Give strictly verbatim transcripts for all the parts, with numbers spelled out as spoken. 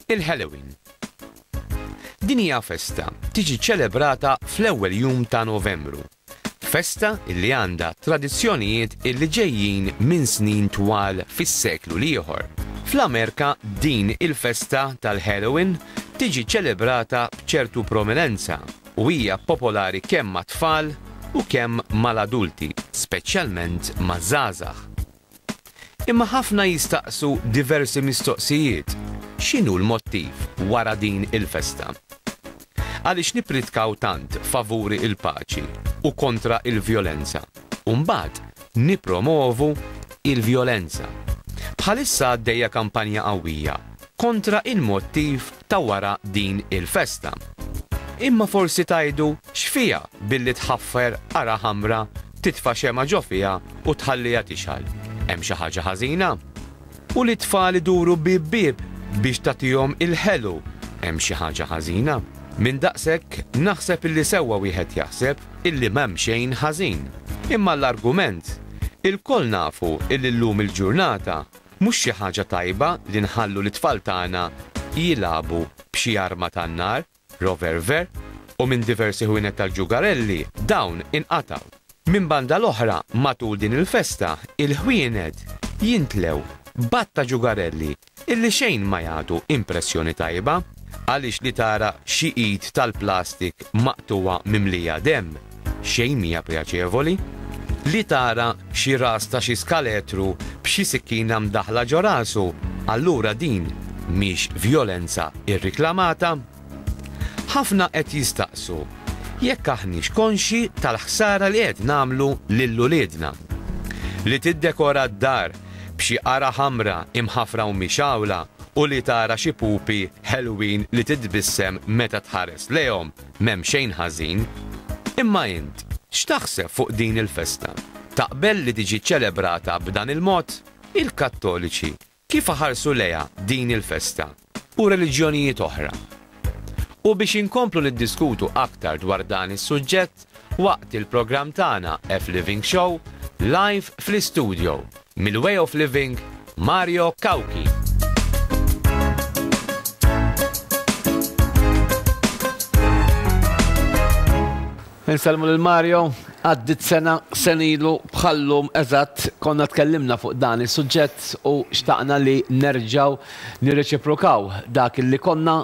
Il-Halloween. Din hija festa tiġi ċelebrata fl-ewwel jum ta' Novembru. Festa illi għandha tradizzjonijiet illi ġejjin minn snin twal fis-seklu l-ieħor. Fl-Amerika din il-festa tal-Halloween tiġi ċelebrata b'ċertu prominenza u hija popolari kemm mat-tfal u kemm mal-adulti, speċjalment maż-żgħażagħ. Imma ħafna jistaqsu diversi mistoqsijiet. X'inhu l-mottiv wara din il-festa? Għaliex nippritkaw tant favuri il-paċi u kontra il-vjolenza? U mbagħad nipromovu il-vjolenza. Bħalissa għaddejja kampanja qawwija kontra il-mottiv ta' wara din il-festa. Imma forsi tgħidu x'fiha billi tħaffer qara ħamra, titfa' xemgħa ġo fiha u tħalliha tixgħel. Hemm xi ħaġa ħażina? U li tfal iduru bib bib biex tagħtihom il-ħelu, hemm xi ħaġa ħażina? Minn daqshekk naħseb illi sewwa wieħed jaħseb illi m'hemm xejn ħażin. Imma l-argument, ilkoll nafu illi llum il-ġurnata mhux xi ħaġa tajba li nħallu l-tfal tagħna jilagħbu b'xi arma tan-nar, revolver, u minn diversi ħwienet tal-ġugarelli dawn inqataw. Minn banda l-oħra, matul din il-festa, il-ħwienet jintlew b'għadd ta' ġugarelli illi xejn ma jagħtu impressjoni tajba, għaliex li tara xi id tal-plastik maqtuwa mimlija dem, xejn mija pjaċevoli, li tara xi ras ta' xi skaletru b'xi sikkina mdaħla ġo rasu, allura din mhix vjolenza irriklamata. Ħafna qed jistaqsu jekk aħniex konxi tal-ħsara li qed nagħmlu lil uliedna. Li tiddekora d-dar b'xi qara ħamra imħafra u mixgħula u li tara xi pupi ħelwin li titbissem meta tħares lejhom m'hemm xejn ħażin. Imma int, x'taħseb fuq din il-festa? Taqbel li tiġi ċelebrata b'dan il-mod? Il-Kattoliċi kif ħarsu lejha din il-festa u reliġjonijiet oħra? U biex inkomplu niddiskutu aktar dwar dan is-suġġett waqt il-programm tagħna F Living Show live fl-istudio mill-Way of Living, Mario Cauchi. Insellmu lil Mario, għaddit sena senilu bħallum eżatt konna tkellimna fuq dan is-suġġett u xtaqna li nerġaw nirreċiprokaw dak li konna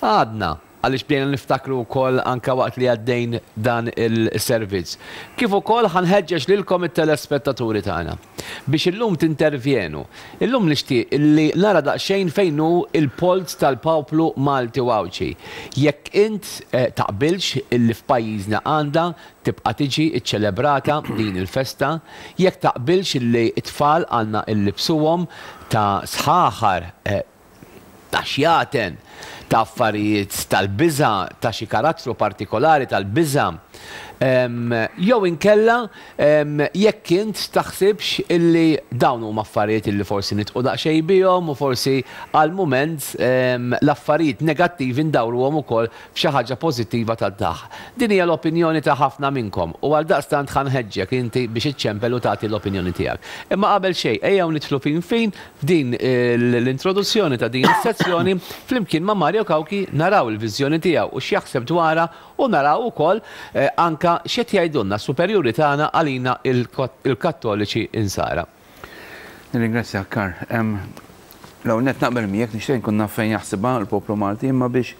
għadna, għaliex bdejna niftakru wkoll anke waqt li għaddejn dan il-servizz. Kif ukoll ħanħeġġeġ lilkom it-telespettaturi tagħna biex illum tintervjenu. Illum nixtieq illi nara daqsxejn fejn hu il-polz tal-poplu Malti u Għawdxi. Jekk int, eh, taqbilx illi f'pajjiżna għandha tibqa' tiġi ċċelebrata din il-festa, jekk taqbilx illi t-tfal għandna illibsuhom ta' sħaħar, eh, ta' xjaten, ta' affarijiet tal-biża', ta' xi karattru partikolari tal-biża', em, jew inkella, em, jekk int taħsibx illi dawn huma affarijiet illi forsi nitqu daqsxejn bihom u forsi għal mument, em, l-affarijiet negattivi ndawruhom ukoll f'xi ħaġa pożittiva tad-daħ. Din hija l-opinjoni ta' ħafna minnkom u għal daqstant ħanħeġġek inti biex iċċempel u tagħti l-opinjoni tiegħek. Imma qabel xejn, ejjew nidħlu fin fin f'din l-introduzzjoni ta' din is-sezzjoni flimkien ma' Mario Cauchi, naraw il-viżjoni tiegħu u x'jaħseb dwarha u naraw ukoll, eh, anka x'qed jgħidulna s-superjuri tagħna għalina il-Kattoliċi insara. Nirringrazzjak, Karl. Em, L-ewwel nett naqbel miegħek, nixtieq nkun naf fejn jaħsibha l-poplu Malti, imma biex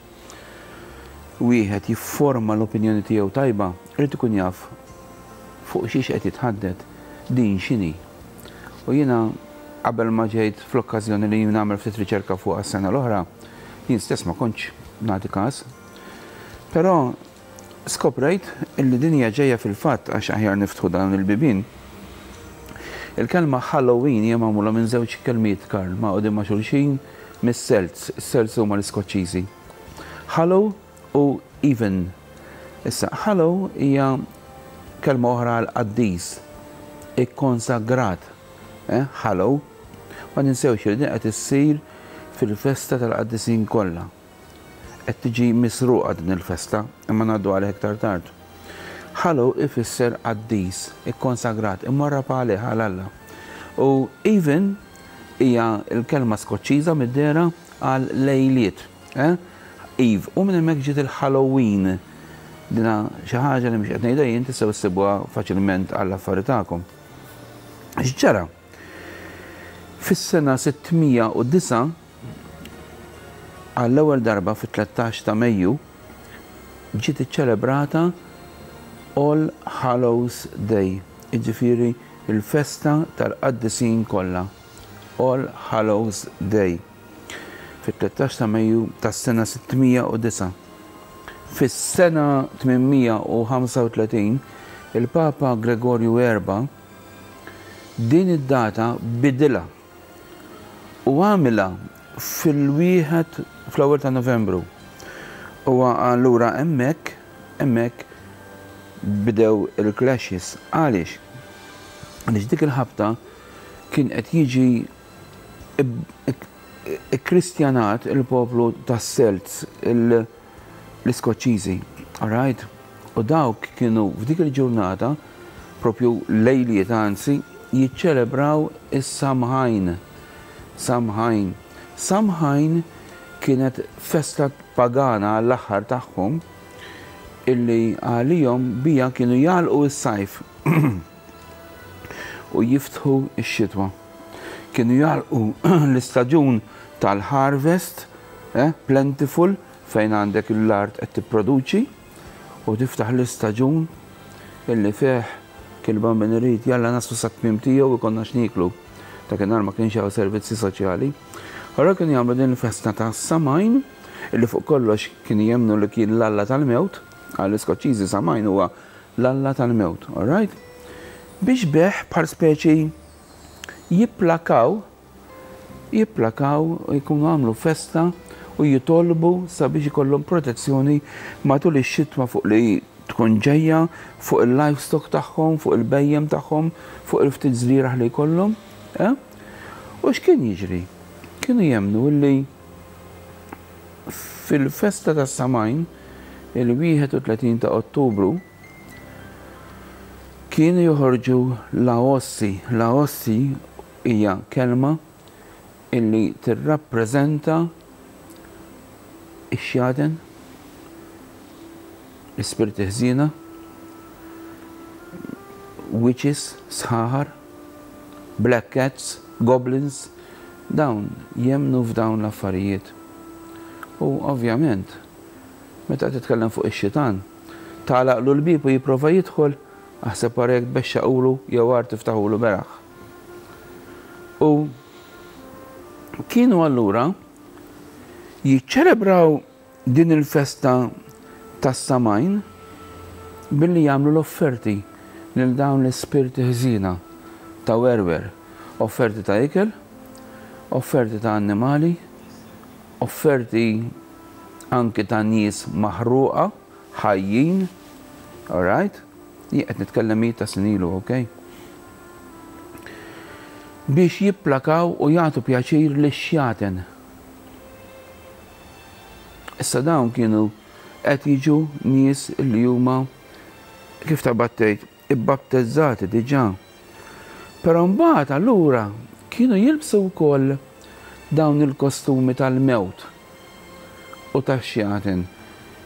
wieħed jifforma l-opinjoni tiegħu tajba, irid ikun jaf fuq xiex qed jitħaddet, din x'inhi. U jiena qabel ma ġejt fl-okkażjoni li nagħmel ftit riċerka fuq għas-sena l-oħra, jien stess ma kontx nagħti każ. Però skoprejt illi din hija ġejja fil-fatt, għax aħjar niftħu dan il-bibien. Il-kelma Halloween hija magħmula minn żewġ kelmiet, Karl, magħqudin ma' xulxin mis-Celts. Is-Celts huma l-Iskoċċiżi. Hallow u even. Issa, Hallow hija kelma oħra għal qaddis, ikkonsagrat. Eh, Hallow. Ma ninsewx li din qed issir fil-festa tal-qaddisin kollha. Qed tiġi misruqa din il-festa, imma ngħaddu għalih iktar tard. Hallow ifisser qaddis, ikkonsagrat, imwarrab għalih għal Alla. U even hija l-kelma Skoċċiża mid-dehra għal lejliet. Eh? Eve, u minn hemmhekk ġiet il-Halloween. Dina xi ħaġa li mhux qed ngħidha jien, tistgħu issibuha faċilment għall-affari tagħkom. X'ġara? Fis-sena sitt mija u disgħa, għall-ewwel darba fit-tlettax ta' Mejju ġiet iċċelebrata All Hallows Day, jiġifieri il-festa tal-qaddisin kollha. All Hallows Day. Fit-tlettax ta' Mejju tas-sena sitt mija u disgħa. Fis-sena tmien mija u ħamsa u tletin il-Papa Gregorju Erba din id-data bidilha u għamilha fil-wieħed fl-ewwel ta' Novembru. U allura hemmhekk hemmhekk bidew il-clashes. Għaliex? Għaliex dik il-ħabta kien qed jiġi kristjanat il-poplu tas-Celts, l-Iskoċċiżi. Alright? U dawk kienu f'dik il-ġurnata, propju lejliet anzi, jiċċelebraw is-Samhain. Samhain. Samhain kienet festa pagana għall-aħħar tagħhom illi għalihom bija kienu jagħlqu s-sajf u jiftħu x-xitwa. Kienu jagħlqu l-istaġun tal-harvest, eh, plentiful, fejn għandek l-art qed tipproduċi, u tiftaħ l-istaġun illi fih kilba min irid jalla naslu sa tmiem tiegħu ikollna x'nieklu. Dakinhar ma kienx hawn servizzi soċjali. Allora kienu jagħmlu din il-festa ta' Samhain illi fuq kollox kienu jemmnu li kien l-alla tal-mewt, għall-Iskoċċiżi Samhain huwa l-alla tal-mewt, all right? Biex beħ bħal speċi jipplakaw, jipplakaw u jkunu għamlu festa u jitolbu sabiex ikollhom protezzjoni matul ix-xitwa fuq li tkun ġejja fuq il-livestock tagħhom, fuq il-bhejjem tagħhom, fuq il-ftit żrieragħ li jkollhom. Eh? U x'kien jiġri? Kienu jemmnu li fil-festa ta' Samhain, il-wieħed u tletin ta' Ottubru, kienu joħorġu l-Ossi. L-Ossi hija kelma illi tirrappreżenta ix-xjaten, l-ispirti ħżiena, witches, sħaħar, black cats, goblins, dawn jemmnu f'dawn l-affarijiet. U ovvjament, meta titkellem fuq ix-xitan, tagħlaqlu l-bib u jipprova jidħol, aħseb wara jekk tbexxaqulu jew għar tiftaħulu beraħ. U kienu allura jiċċelebraw din il-festa tas-Samhain billi jagħmlu l-offerti lil dawn l-ispirti ħżiena ta' werwer, offerti ta' ikel, offerti ta' annimali, offerti anki ta' nies maħruqa, ħajjin, all right? Jien qed nitkellem mijiet ta' snin ilu, ok? Biex jipplakaw u jagħtu pjaċir lix-xjaten. Issa dawn kienu qed jiġu nies li huma, kif ta' battejt, ibbattezzati diġà. Però mbagħad allura kienu jilbsu wkoll dawn il-kostumi tal-mewt u tax-xjaten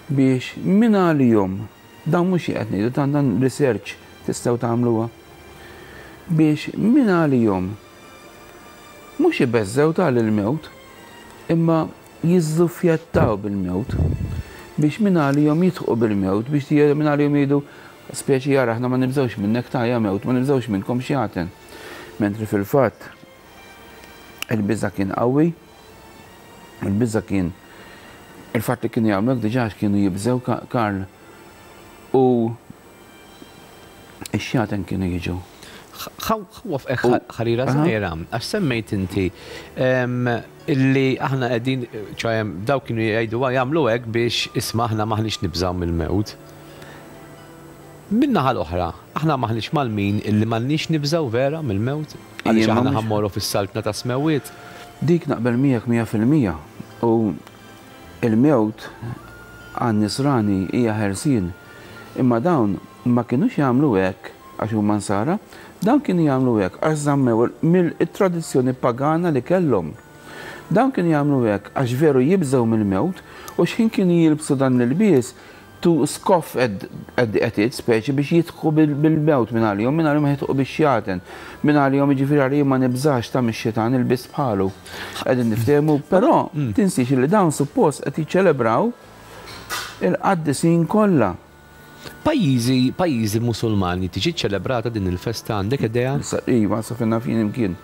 biex minn għalihom, dawn mhux qed ngħidu, dan dan research tistgħu tagħmluha, biex minn għalihom mhux ibeżżew tal-mewt imma jiżżuffjettaw bil-mewt, biex minn għalihom jidħqu bil-mewt, biex minn għalihom jgħidu speċi jara aħna ma nibżgħux minnek ta' ja mewt, ma nibżgħux minnkom xjaten. Mentri fil-fatt il-biża kien qawwi, il-biża kien il-fatt li kienu jagħmlu diġà kienu jibżgħu, Karl, u ix-xjaten kienu jiġu. Ħarira żgħira, għax semmejt inti illi aħna qegħdin, ċoè daw kienu jgħidu jagħmlu hekk biex isma' aħna maħniex nibżgħu mill-mewt. Min-naħa l-oħra, aħna maħniex mal-min illi m'għandniex nibżgħu vera mill-mewt, għaliex aħna ħa mmorru fis-saltna ta' smewiet. Dik naqbel miegħek mija fil-mija u il-mewt għan-nisrani hija ħelsien. Imma dawn ma kienux jagħmlu hekk għax huma nsara, Dan kienu jagħmlu hekk għax żammew mill-tradizzjoni pagana li kellhom. Dan kienu jagħmlu hekk għax veru jibżgħu mill-mewt u x'ħin kienu jilbsu dan l-ilbies to scoff at, at, at it, speċi biex jidħku bil-mewt minn għalihom, minn għalihom jidħku bix-xjaten, minn għalihom jiġifieri għalihom ma nibżax ta' mix-xitan ilbis bħalu. Qegħdin niftehmu, però tinsiex li dawn suppost qed jiċċelebraw il-qaddisin kollha. Pajjiżi, pajjiżi Musulmani tiġi ċelebrata din il-festa, għandek idea? Iva, sa fejn naf jien imkien.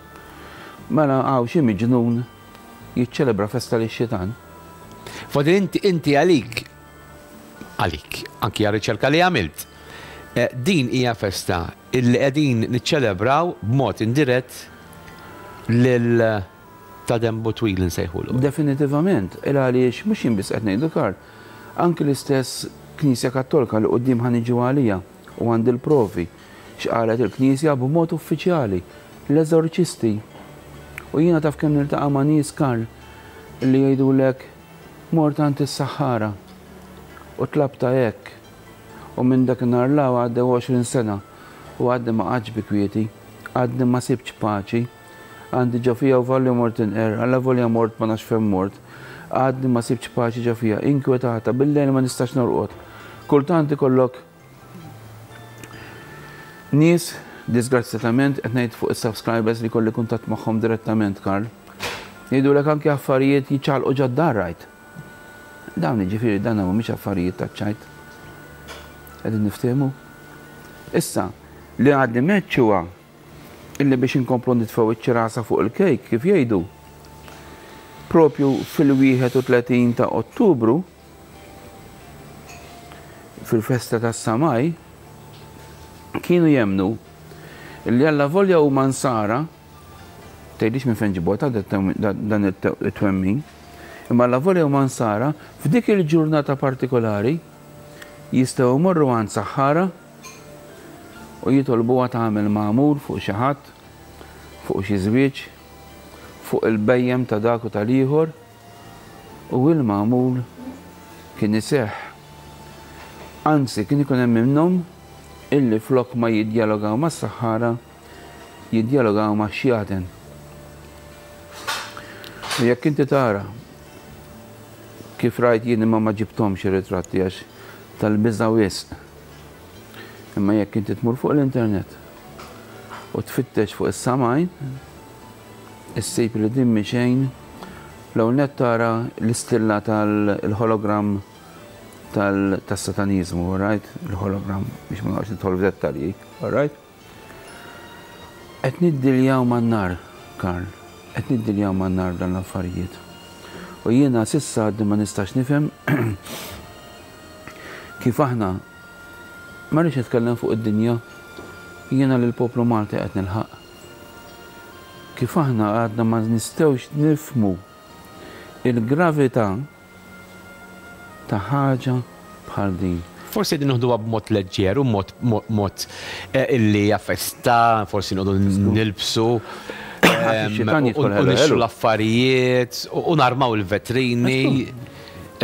Mela hawn xi miġnun jiċċelebra festa lix-xitan. Fodi inti inti għalik, għalik, anki għal riċerka li għamilt, eh, din hija festa illi qegħdin niċċelebraw b'mod indirett lil ta' dembu twil nsejħulu. Definitivament, il għaliex mhux jien biss qed ngħidu, Karl, anki l-istess Knisja Kattolika li quddiem ħa niġu għalija u għandi l-provi x'qalet il-Knisja b'mod uffiċjali, l-eżorċisti. U jiena taf kemm niltaqa' ma' nies, Karl, li jgħidulek mort għand is-saħħara u tlabta hekk u minn dak in-nhar 'l hawn għaddew għoxrin sena u għadni ma qgħadx bi kwieti, għadni ma sibtx paċi, għandi ġo fija u valli mort inqer, alla volja mort ma nafx fejn mort, għadni ma sibtx paċi ġo fija, inkwetata, bil-lejl ma nistax norqod. Kultant ikollok nies, disgrazzjatament, qed ngħid fuq is-subscribers li kolli kuntatt magħhom direttament, Karl, jgħidulek anke affarijiet jiċċaqalqu ġod-dar rajt. Dawn jiġifieri dan mhumiex affarijiet taċ-ċajt. Qegħdin niftehmu. Issa, li għadni meċ huwa illi biex inkomplu nitfgħu iċ-ċirasa fuq il-kejk, kif jgħidu, propju fil-wieħed u tletin ta' Ottubru, fil-festa tas-Samaj, kienu jemnu illi alla volja huma nsara, tgħidix minn fejn ġibota dan it-twemmin, imma alla volja huma nsara, f'dik il-ġurnata partikolari jistgħu jmorru għand saħħara u jitolbuha tagħmel magħmul fuq xi ħadd, fuq xi żwieġ, fuq il-bhejjem ta' dak u tal-ieħor, u il-magħmul kien iseħħ. Anzi, kien ikun hemm minnhom illi flok ma jiddjalogaw mas-saħħara, jiddjalogaw ma' xjaten. U jekk inti tara kif rajt jien, imma ma ġibthomx ir-ritratti għax tal-biża' wisq. Imma jekk inti tmur fuq l-internet u tfittex fuq is-Samajn, issib li din xejn l net tara l-istilla tal-hologram tas-satanizmu, right? Il-hologram, biex ma noqgħodx nidħol f'dettalji, right? Qed niddiljaw man-nar, Karl, qed niddiljaw man-nar dan l-affarijiet. U jiena s'issa għadni ma nistax nifhem kif aħna, ma rridx nitkellem fuq id-dinja, jiena lill-poplu Malti qed nilħaq. Kif aħna għadna ma nistgħux nifhmu il-gravità ta' ħaġa bħal din. Forsi din noħduha b'mod leġġer u mod mod eh, illi hija festa, forsi noqogħdu nilbsu Ix-xitan u jidħol ħelu nixtru ħelu. l-affarijiet u narmaw il-vetrini.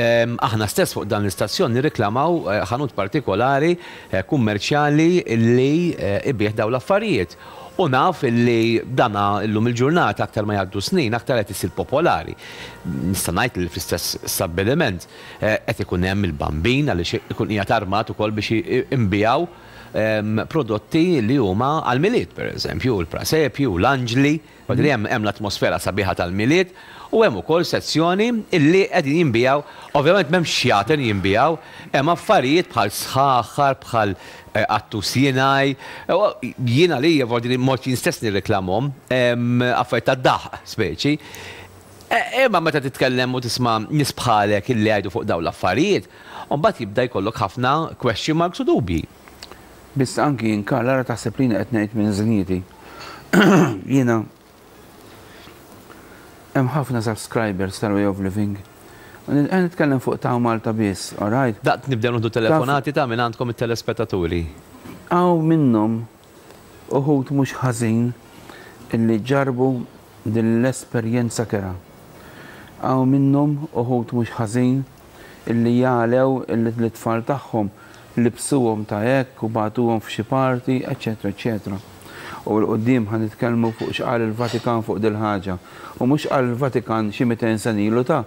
Em, Aħna stess fuq dan l-istazzjon nirriklamaw eh, ħanut partikolari eh, kummerċjali li eh, ibigħ daw l-affarijiet. U naf illi dana illum il-ġurnata, aktar ma jgħaddu snin, aktar qed isir popolari. Nista' ngħid li fl-istess stabbiliment eh, qed ikun hemm il-bambin għaliex ikun qiegħed armat ukoll biex inbiegħu em, prodotti li huma għal-Milied, per eżempju, il-prasepju, l-anġli, għadri hemm hemm l-atmosfera sabiħa tal-Milied, u hemm ukoll sezzjoni illi qegħdin jinbiegħu, ovvjament m'hemmx xjaten jinbiegħu, hemm affarijiet bħal sħaħar, bħal eh, qattus jinaj, eh, jiena li jevordini mod jien stess nirreklamhom, em, affarijiet tad-daħq speċi. E, Imma meta titkellem u tisma' nies bħalek illi jgħidu fuq dawn l-affarijiet, u mbagħad jibda jkollok ħafna question marks u dubji. Biss anki jien, Karl, ara taħseb li qed ngħid minn żnieti. Jiena hemm ħafna subscribers tal-Way of Living. Qed nitkellem fuq ta' Malta biss, all right? Daqt nibdew nieħdu telefonati ta' minn għandkom it-telespettaturi. Hawn minnhom uħud mhux ħażin illi ġarbu din l-esperjenza kerha. Hawn minnhom uħud mhux ħażin illi jalew illi l-tfal tagħhom libsuhom ta' hekk u bagħtuhom f'xi parti, eċetera, eċetera. U 'l quddiem ħa nitkellmu fuq x'qal il-Vatikan fuq dil-ħaġa. U mhux qal il-Vatikan xi mitejn sena ilu, ta'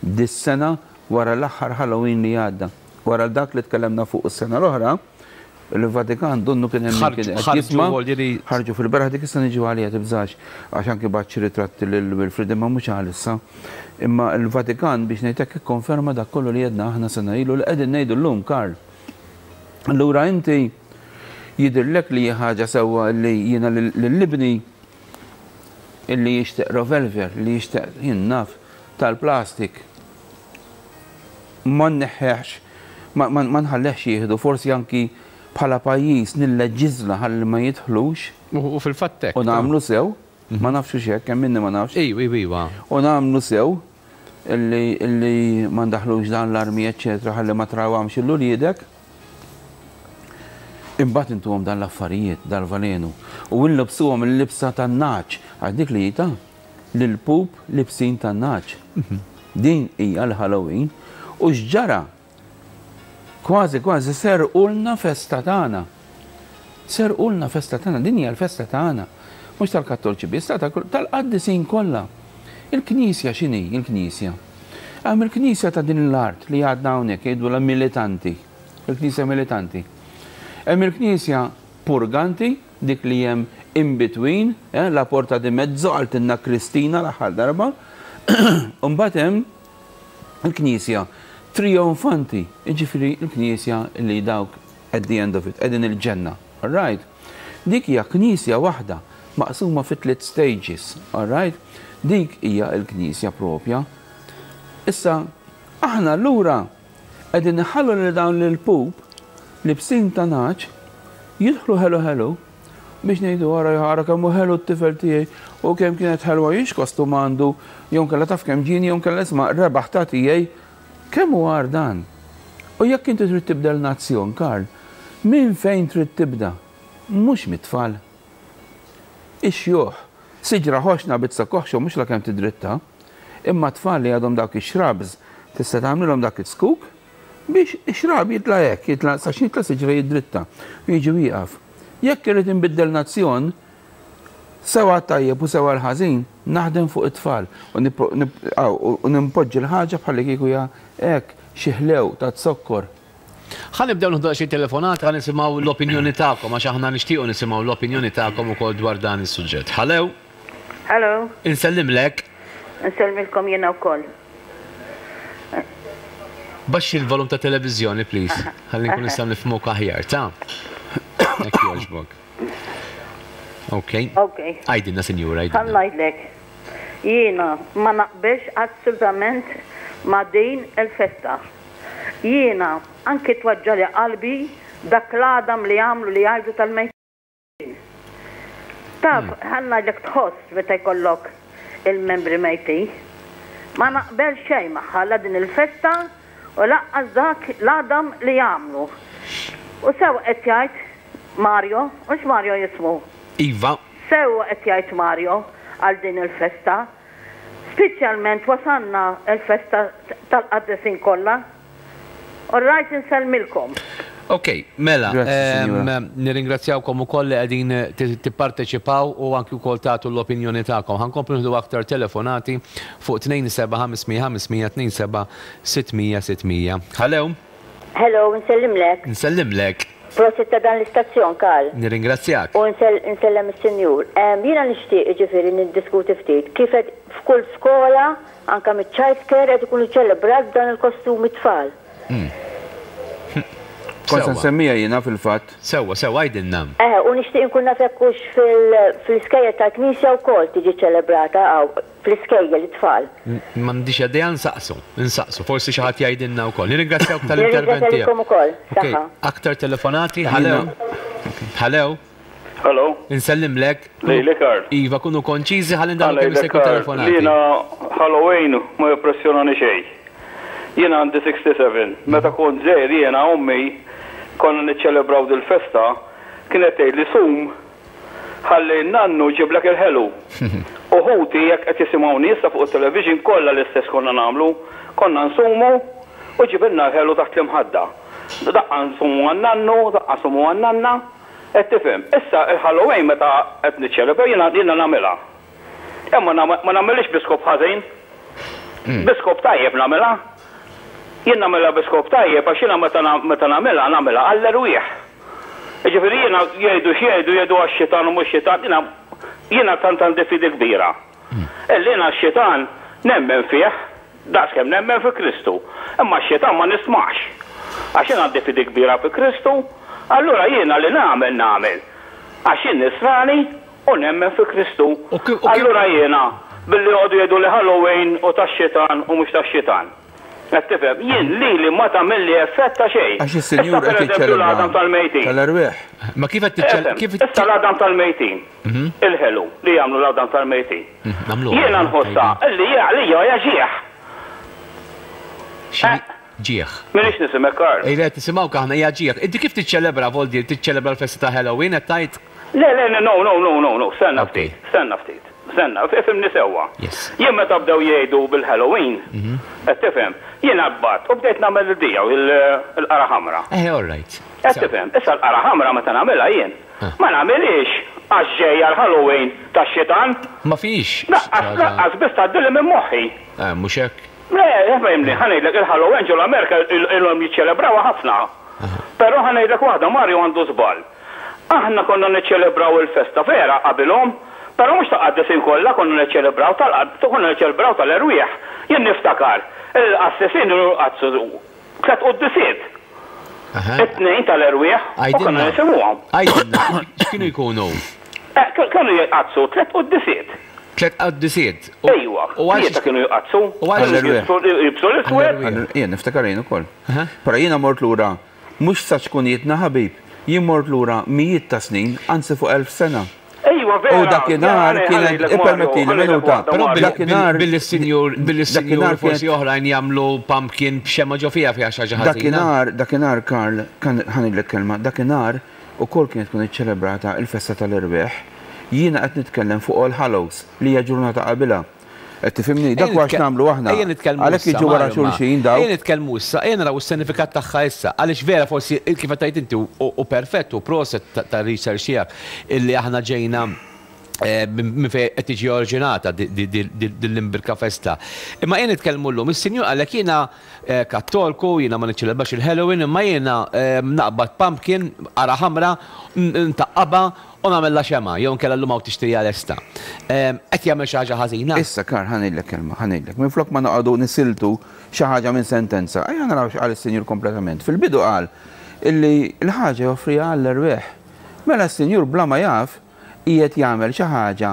dis-sena wara l-aħħar Halloween li għadda. Wara dak li tkellemna fuq is-sena l-oħra, il-Vatikan donnu kien hemm kien qed jisma', ħarġu fil-beraħ. Dik issa niġu għalija, tibżax, għax anki bagħat xi ritratti lil Wilfrid, imma mhux għalissa. Imma il-Vatikan, biex ngħidlek, ikkonferma dak kollu li għedna aħna sena ilu li qegħdin ngħidu llum, Karl. Allura inti jidhirlek li ħaġa sewwa li jiena lil ibni illi jixtieq revolver, li jixtieq, jien naf, tal-plastik, ma nneħħeħx, ma nħallehx jieħdu, forsi anki bħala pajjiż nilleġiżla ħalli ma jidħlux. U fil-fatt U nagħmlu sew, ma nafx hekk, hemm minni ma nafx. Ejwa, ejwa. U nagħmlu sew illi illi ma ndaħlux dan l-armi, eċċetera, ħalli ma trawamx lil uliedek. Imbagħad intuhom dan l-affarijiet, dal-valenu. U nlibsuhom il-libsa tan-nagħaġ, għax dik li jita l-pup libsin tan-nagħaġ. Din hija l-Halloween u x'ġara? Kważi kważi serqulna festa tagħna. Serqulna festa tagħna, din hija l-festa tagħna. Mhux tal-Kattoliċi biss, tal-qaddisin kollha. Il-Knisja x'inhi il-Knisja? Hemm il-Knisja ta' din l-art li għadna hawnhekk jgħidu la militanti. Il-Knisja militanti. Hemm il-Knisja purganti, dik li hemm in between, eh, la porta di mezzo, qaltilna Kristina l-aħħar darba. Mbagħad hemm il-Knisja trionfanti, jiġifieri il-Knisja li dawk at the end of it, qegħdin il-ġenna. All right? Dik hija Knisja waħda maqsuma fi tliet stages, all right? Dik hija l-Knisja propja. Issa, aħna allura qegħdin nħallu li dawn l-pup libsin ta' nagħaġ jidħlu ħelu ħelu biex ngħidu, "Ara ara kemm hu ħelu t-tifel tiegħi u kemm kienet ħelwa jiex kostum għandu, jew kellha taf kemm ġieni, jew kellha isma' rebaħ ta' tiegħi." Kemm hu għar dan? U jekk inti trid tibdel nazzjon, Karl, minn fejn trid tibda? Mhux mit-tfal. Ix-xjuħ, siġra ħoxna bitsa koħxo mhux la kemm tidritta, imma tfal li għadhom dawk ix-shrubs tista' tagħmlilhom dak it-skuk biex ix-shrub jitla' hekk, jitla' sa jitla' siġra jidritta u jiġi wieqaf. Jekk irid inbiddel nazzjon, sewa tajjeb u sewa l-ħażin, naħdem fuq it-tfal u nimpoġġi l-ħaġa bħalli kieku hija hekk xi ħlew ta' zokkor. Ħa nibdew nieħdu xi telefonat, ħa nisimgħu l-opinjoni tagħkom, għax aħna nixtiequ nisimgħu l-opinjoni tagħkom ukoll dwar dan is-suġġett. Hello. Hello. Insellimlek. Insellmilkom jiena wkoll. Baxxi l-volum ta' televiżjoni, please. Ħalli nkun nistgħu nifhmuk aħjar, ta' Jekk jogħġbok. Ok. Ok. Għidilna, sinjura, Ħa ngħidlek. Jiena ma naqbilx assolutament ma' din il-festa. Jiena anki tweġġagħli qalbi dak l-għadam li għamlu li jgħidu tal-mejtin. Taf, ħa ngħidlek, tħoss meta jkollok il-membri mejtin. Ma naqbel xejn magħha, la din il-festa u lanqas dak l-għadam li jagħmlu. U sew qed jgħid Mario, mhux Mario jismu? Iva. Sew qed jgħid Mario għal din il-festa. Speċjalment wasanna il-festa tal-qaddisin kollha. All right, insellmilkom. Ok, mela, nirringrazzjawkom ukoll li qegħdin tipparteċipaw u anki wkoll tagħtu l-opinjoni tagħkom. Ħa nkomplu nieħdu aktar telefonati fuq tnejn seba' ħamsa ħamsa tnejn seba' sitt mija sitt mija. Hello. Hello, nsellimlek. Nsellimlek. Prosit ta' dan l-istazzjon, Karl. Nirringrazzjak. U nsellem is-senjur. Jiena nixtieq, ġifieri, niddiskuti ftit kif qed f'kull skola, anka mit-child care, qed ikunu ċelebrat dan il-kostumi tfal. Hmm. Kont nsemmija jiena fil-fatt. Sewwa, sewwa, għidilna. Eh, u nixtieq inkun naf jekk hux fil-iskejjel tal-Knisja wkoll tiġi ċelebrata għaw fl-iskejjel it-tfal. M'għandix idea, nsaqsu, nsaqsu, forsi xi ħadd jgħidilna wkoll. Nirringrazzjawk tal-intervent tiegħek. Ukoll. Saħħa. Aktar telefonati, hello. Hello. Hello. Insellimlek. Lejli, Karl. Iva, kunu konċiżi ħalli ndaħlu kemm jista' jkun telefonati. Jiena Halloween ma jimpressjonani xejn. Jiena għandi sitta u sebgħin. Meta kont żgħir jiena, ommi, konna niċċelebraw dil-festa, kienet tgħid li sum ħalli nannu jġiblek il-ħelu. U ħuti, jekk qed jisimgħuni issa fuq it-television, kollha l-istess konna nagħmlu, konna nsumu u jġibilna l-ħelu taħt l-imħadda. Daqqa nsumu għan-nannu, daqqa nsumu għan-nanna. Qed tifhem, issa il-Halloween meta qed niċċelebra jiena jiena nagħmilha. Imma ma nagħmilx bi skop ħażin. Bi skop tajjeb nagħmilha. Jien nagħmilha bi skop tajjeb għax jiena meta nagħmilha nagħmilha għall-erwieħ. Jiġifieri jiena jgħidu x'jgħidu jgħidu għax-xitan u mhux xitan, jiena jiena tant għandi fidi kbira. Illi jiena x-xitan nemmen fih daqskemm nemmen fi Kristu. Imma x-xitan ma nismax. Għax jien għandi fidi kbira fi Kristu, allura jiena li nagħmel nagħmel. Għax jien nisrani u nemmen fi Kristu. Allura jiena billi joqogħdu jgħidu li Halloween u tax-xitan u mhux tax-xitan. Qed tifhem, jien lili ma tagħmilli effett ta' xejn. Għax is-Sinjur qed jiċċelebra tal-mejtin. Tal-erwieħ. Ma kif qed tiċċelebra? Kif issa l-għadam tal-mejtin? Il-ħelu li jagħmlu l-għadam tal-mejtin. Jiena nħossha illi għalija hija ġieħ. Ġieħ. Minix nisimek, Karl. Ej, le, nisimgħuk aħna, hija ġieħ. Inti kif tiċċelebra, Voldir, tiċċelebra l-festa ta' Halloween qed tgħid? Le, le, no, no, no, no, no, stenna ftit, stenna ftit. Stenna, ifhimni sewwa. Jien meta bdew jgħidu bil-Halloween, qed tifhem, jien qbadt u bdejt nagħmel il-dija il-qara ħamra. Eh, all right. Qed tifhem, issa l-qara ħamra meta nagħmilha jien, ma nagħmilhiex għax ġejja l-Halloween tax-xitan. Ma fix. Laqqas, laqqas biss tgħaddili minn moħħi. Eh, mhux hekk. Le, fehimni, ħa ngħidlek il-Halloween ġol Amerika ilhom jiċċelebrawha ħafna. Però ħa ngħidlek waħda, Mario għandu żball. Aħna konna niċċelebraw il-festa vera qabilhom, però mhux ta' qaddisin kollha konna niċċelebraw tal konna niċċelebraw tal-erwieħ. Jien niftakar il-qassisin qazzu tliet quddisiet. It-tnejn tal-erwieħ u konna nisimgħuhom. Għidilna, x'kienu jkunu? Kienu jqaddsu tliet quddisiet. Tliet qaddisiet. Ejwa, tlieta kienu jqaddsu. U għal jibsu l-iswed. Jien niftakar jien ukoll. Però jiena mort lura mhux sa ċkunietna ħabib, jien mort lura mijiet ta' snin, anzi fuq elf sena. Ejwa, vera. U dakinhar kienet ippermettili minuta. Però billi s-sinjur billi s-sinjur forsi oħrajn jagħmlu pumpkin b'xema ġo fiha fiha xi ħaġa ħażina. Dakinhar, dakinhar Karl, ħa ngħidlek kelma, dakinhar ukoll kienet tkun iċċelebrata il-festa tal-erwieħ. Jiena qed nitkellem fuq All Hallows li hija ġurnata qabilha. Qed tifhimni, dak huwa x'nagħmlu aħna. Għalhekk jiġu wara xulxin daw. Ejja nitkellmu issa, ejja naraw is-sinifikat tagħha issa. Għaliex vera forsi kif qed tgħid inti u perfett u proset ta' research tiegħek illi aħna ġejna minn fejn qed tiġi oriġinata din l-imbirka festa. Imma ejja nitkellmu llum, is-sinjur qalek jiena kattolku, jiena ma niċċelebrax il-Halloween, imma jiena naqbad pumpkin, qara ħamra, ntaqqabha u nagħmilha xema, jew inkella llum hawn tixtriha lesta. Qed jagħmel xi ħaġa ħażina. Issa Karl ħa ngħidlek kelma, ħa ngħidlek. Minflok ma noqogħdu nisiltu xi ħaġa minn sentenza, ejja naraw x'qal is-sinjur kompletament. Fil-bidu qal illi l-ħaġa joffriha għall-erwieħ. Mela s-sinjur bla ma jaf qiegħed jagħmel xi ħaġa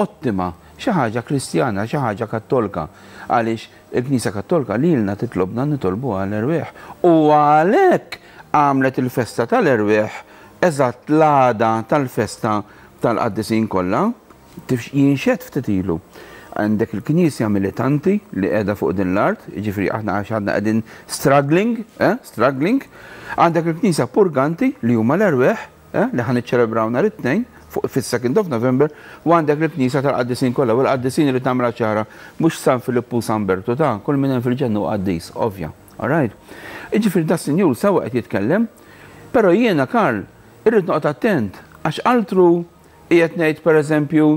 ottima, xi ħaġa Kristjana, xi ħaġa Kattolka. Għaliex il-Knisja Kattolka lilna titlobna nitolbu għall-erwieħ. U għalhekk għamlet il-festa tal-erwieħ eżatt l-għada tal-festa tal-qaddisin kollha. Jinxed ftit ilu. Għandek il-Knisja militanti li qiegħda fuq din l-art, jiġifieri aħna għax għadna qegħdin struggling, eh, struggling. Għandek il-Knisja purganti li huma l-erwieħ, eh, li ħa niċċelebraw nhar it-tnejn fuq fis-second of November, u għandek il-Knisja tal-Qaddisin kollha, u l-Qaddisin li tagħmilha ċara mhux San Filippu u San Bertu ta' kull min hemm fil-ġennu qaddis, ovvja. All right. Jiġifieri da sinjur sewwa qed jitkellem, però jiena Karl irrid noqgħod attent għax altru qiegħed ngħid pereżempju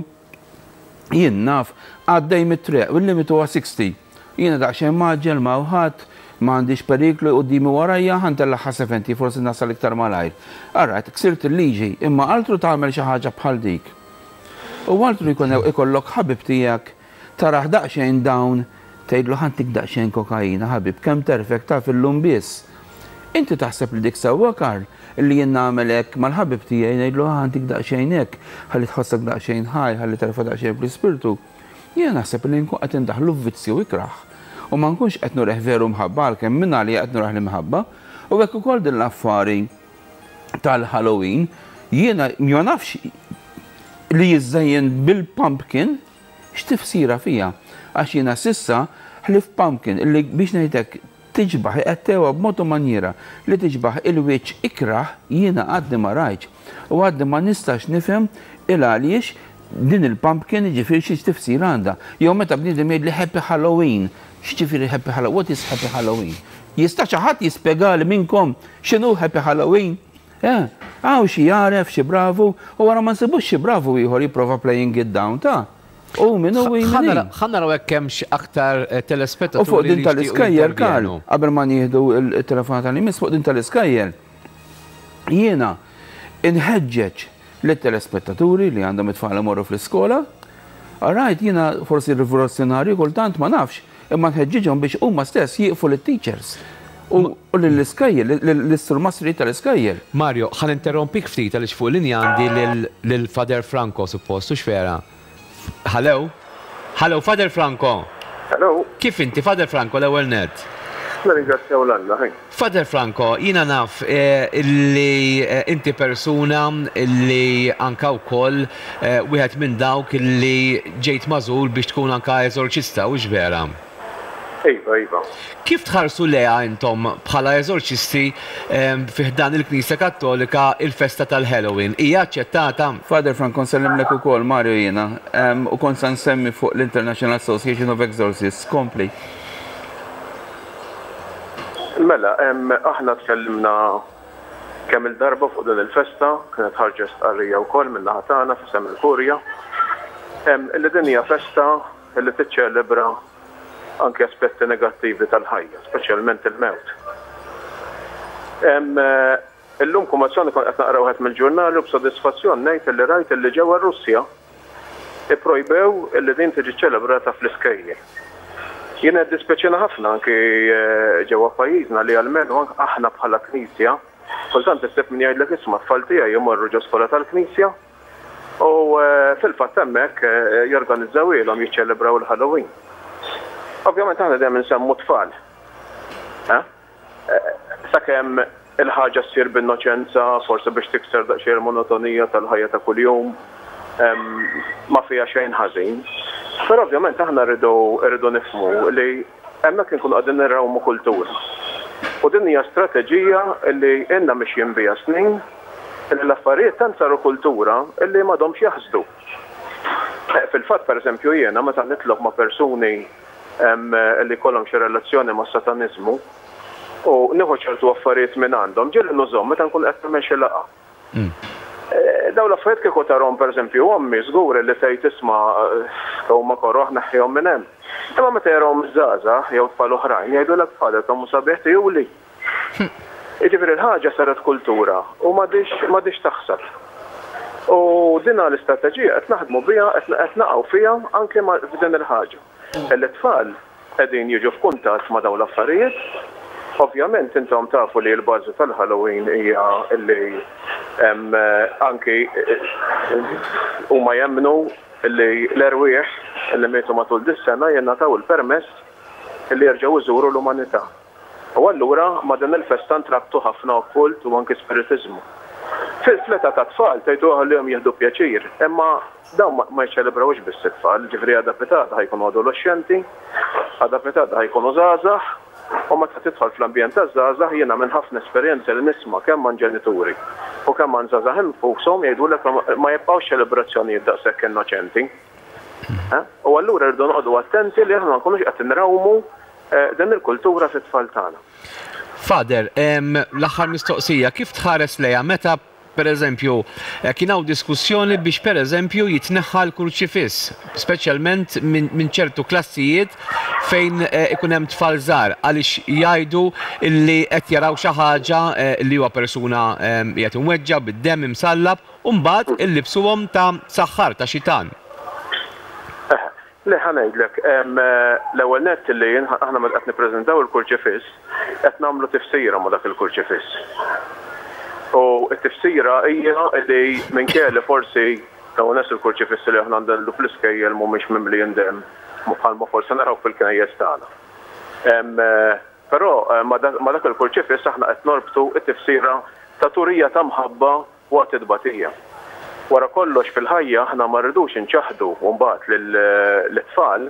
jien naf għaddej mit-triq u l-limitu huwa sixty. Jiena daqsxejn maġġel ma' ħadd, ma għandix periklu quddiemi warajja, ħa ntellagħha seventy, forsi nasal iktar malajr. All right, ksirt il-liġi, imma altru tagħmel xi ħaġa bħal dik. U altru jkun ikollok ħabib tiegħek taraħ daqsxejn dawn tgħidlu ħantik daqsxejn kokaina ħabib, kemm terfek taf illum biss. Inti taħseb li dik sewwa Karl, illi jien nagħmel hekk mal-ħabib tiegħi ngħidlu ħantik daqsxejn hekk, ħalli tħossok daqsxejn ħaj, ħalli terfa' daqsxejn fl-ispirtu. Jien naħseb li nkun qed indaħlu f'vizzju ikrah. U ma nkunx qed nureh veru mħabba għalkemm minn għalija qed nureh l-imħabba. U hekk ukoll din l-affari tal-Halloween, jiena ma nafx li jiżżejjen bil-pumpkin x'tifsira fija. Għax jiena sissa ħlif pumpkin illi biex ngħidlek tiġbaħ qed b'mod u manjiera li tiġbaħ il-wiċċ ikrah jiena għadni ma rajtx. U għadni ma nistax nifhem il għaliex din il-pumpkin jiġifieri xi tifsira għandha. Jew meta bniedem jgħidli Happy Halloween, x'ġifieri Happy Halloween? What is Happy Halloween? Jista' xi ħadd jispjegali minnkom x'inhu Happy Halloween? Hawn xi jaref, xi bravu, u wara ma nsibux xi bravu ieħor jipprova playing it down ta' u minnu u jmin. Ħa naraw hekk hemmx aktar telespettaturi. U fuq din tal-iskejjel, Karl, qabel ma nieħdu il-telefonata li miss fuq din tal-iskejjel, jiena inħeġġeġ lit-telespettaturi li għandhom it-tfal imorru fl-iskola. All right, jiena forsi rivoluzzjonarju kultant ma nafx, imma nħeġġiġhom biex huma stess jieqfu lit-teachers. U l-iskejjel, l-isturmastri tal-iskejjel. Mario, ħa ninterrompik ftit għaliex fuq linja għandi lil Father Franco suppost, hux vera? Hello? Hello, Father Franco. Hello. Kif inti, Father Franco, l-ewwel net? Nirringrazzjaw l-Alla, ħej. Father Franco, jiena naf illi inti persuna illi anka wkoll wieħed minn dawk illi ġejt magħżul biex tkun anka eżorċista, hux vera? Iva, iva. Kif tħarsu leha intom bħala eżorċisti fi ħdan il-Knisja Kattolika il-festa tal-Halloween? Hija aċċettata? Father Franco, nsellimlek ukoll Mario jiena, u kont sa nsemmi fuq l-International Association of Exorcists. Kompli. Mela, aħna tkellimna kemm il-darba fuq din il-festa, kienet ħarġet stqarrija wkoll min-naħa tagħna f'isem il-Kurja. Illi din hija festa illi tiċċelebra anke aspetti negattivi tal-ħajja, speċjalment il-mewt. Illum kumazzjoni kont qed naqra wieħed mill-ġurnali u b'sodisfazzjon ngħid illi rajt illi ġewwa r-Russja ipprojbew illi din tiġi ċelebrata fl-iskejjel. Jien qed dispeċina ħafna anke ġewwa pajjiżna li almenu aħna bħala Knisja, kultant issib min jgħidlek isma' tfal tiegħi jmorru ġo skola tal-Knisja u fil-fatt hemmhekk jorganizzawilhom jiċċelebraw il-Halloween. Ovvjament aħna dejjem insemmu tfal. Sakemm il-ħaġa ssir b'innoċenza, forsi biex tikser daqsxejn il-monotonija tal-ħajja ta' kuljum, ma fiha xejn ħażin. Però ovvjament aħna rridu rridu nifhmu li hemmhekk inkunu qegħdin nirrawmu kultura. U din hija strateġija li ilna mixjin biha snin, li l-affarijiet tant saru kultura li m'għadhomx jaħsdu. Fil-fatt pereżempju jiena meta nitlob ma' persuni li kollhom xi relazzjoni ma' sataniżmu u nieħu ċertu affarijiet minn għandhom, ġieli nużhom meta nkun qed nagħmel xi laqgħa. Dawn l-affarijiet kieku tarhom pereżempju ommi żgur li tgħid isma' huma korroħ neħħihom minn hemm. Imma meta jarahom żgħażagħ jew tfal oħrajn jgħidulek tfal huma sabiħ tijuli. Jiġifieri l-ħaġa saret kultura u m'għadix taħseb. U din l-istrateġija qed naħdmu biha qed naqgħu fiha anke f'din il-ħaġa. It-tfal qegħdin jiġu f'kuntatt ma' dawn l-affarijiet. Ovvjament intom tafu li l-bażi tal-Halloween hija li anki huma jemmnu li l-erwieħ li mietu matul dis-sena jingħataw il-permess li jerġgħu jżuru l-umanità. U allura ma' din il-festa ntrabtu ħafna okkult u anki spiritiżmu. Fil-fleta ta' tfal tgħidu ħallihom jieħdu pjaċir, imma dawn ma jċelebrawx biss it-tfal, ġifieri għada pitgħada ħajkunu adolescenti, għada pitgħada ħajkunu żgħażagħ, u meta tidħol fl-ambjent taż-żgħażagħ jiena minn ħafna esperjenza li nisma' kemm man ġenituri u kemm man żgħażagħ infushom jgħidulek ma jibqgħux ċelebrazzjonijiet daqshekk innoċenti. U allura rridu noqogħdu attenti li aħna ma nkunux qed inrawmu din il-kultura fit-tfal tagħna. Father, l-aħħar mistoqsija, kif tħares lejha meta per eżempju kien hawn diskussjoni biex per eżempju jitneħħa l-kurċifiss, speċjalment minn ċertu klassijiet fejn ikun hemm tfal żgħar għaliex jgħidu li qed jaraw xi ħaġa li huwa persuna qiegħed imweġġa' bid-demm imsallab u mbagħad illibsuhom ta' saħħar ta' xitan. Le ħa ngħidlek, l-ewwel nett li aħna meta qed nippreżentaw il-kurċifiss qed nagħmlu tifsira ma' dak il-kurċifiss. U t-tifsira hija li minkejja li forsi dawn nies il-kurċifissi li aħna għandna fl-iskejjel mhumiex mimlijin demm bħalma forsi naraw fil-knejjes tagħna. Però ma' dak il-kurċifiss aħna qed norbtu t-tifsira ta' turija ta' mħabba waqt it-tbatija. Wara kollox fil-ħajja aħna ma rridux inċaħdu mbagħad lit-tfal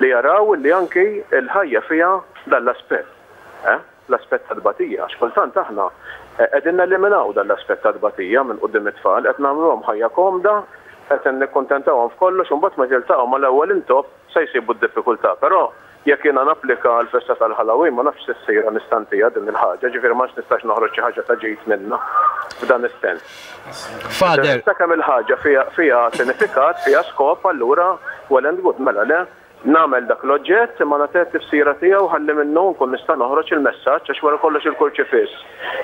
li jaraw li anki l-ħajja fiha dan l-aspett, l-aspett ta' tbatija, għax kultant aħna qegħdin neliminaw dan l-aspett ta' tbatija minn quddiem it-tfal, qed nagħmluhom ħajja komda, qed nikkuntentawhom f'kollox u mbagħad meta jiltaqgħu mal-ewwel intopp se jsibu d-diffikultà. Però jekk jiena napplika l-festa tal-Halloween ma nafx se ssir nistantija din il-ħaġa, ġifieri ma nistax noħroġ xi ħaġa ta' ġid minnha. f'dan is-sens. Father. Sakemm il-ħaġa fiha sinifikat, fiha skop, allura well and good, mela le, nagħmel dak l-oġġett imma nagħtih tifsira tiegħu ħalli minnu nkun nista' noħroġ il-messaġġ, għax wara kollox il-kurċifiss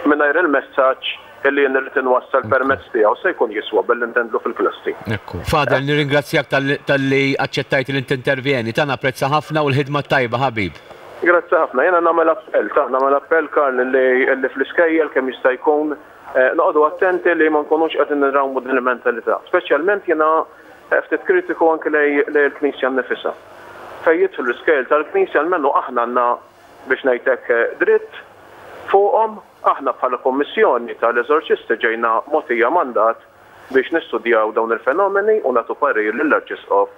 mingħajr il-messaġġ illi jien irrid inwassal permezz tiegħu se jkun jiswa billi ntendlu fil-klassi. Ekku. Father, nirringrazzjak talli aċċettajt li tintervjeni. Ta' napprezza ħafna u l-ħidma tajba, ħabib. Grazzi ħafna. Jiena nagħmel appell, ta' nagħmel appell, Karl, li fl-iskejjel kemm jista' jkun noqogħdu attenti li ma nkunux qegħdin nrawmu din il-mentalità. Speċjalment jiena ftit kritiku anke lejn il-Knisja nnifisha. Fejn jidħlu l-iskejjel tal-Knisja, almenu aħna għandna, biex ngħidlek, dritt fuqhom. Aħna bħala Kommissjoni tal-Eżorċisti ġejna mogħtija mandat biex nistudjaw dawn il-fenomeni u nagħtu parir lill-Arċisqof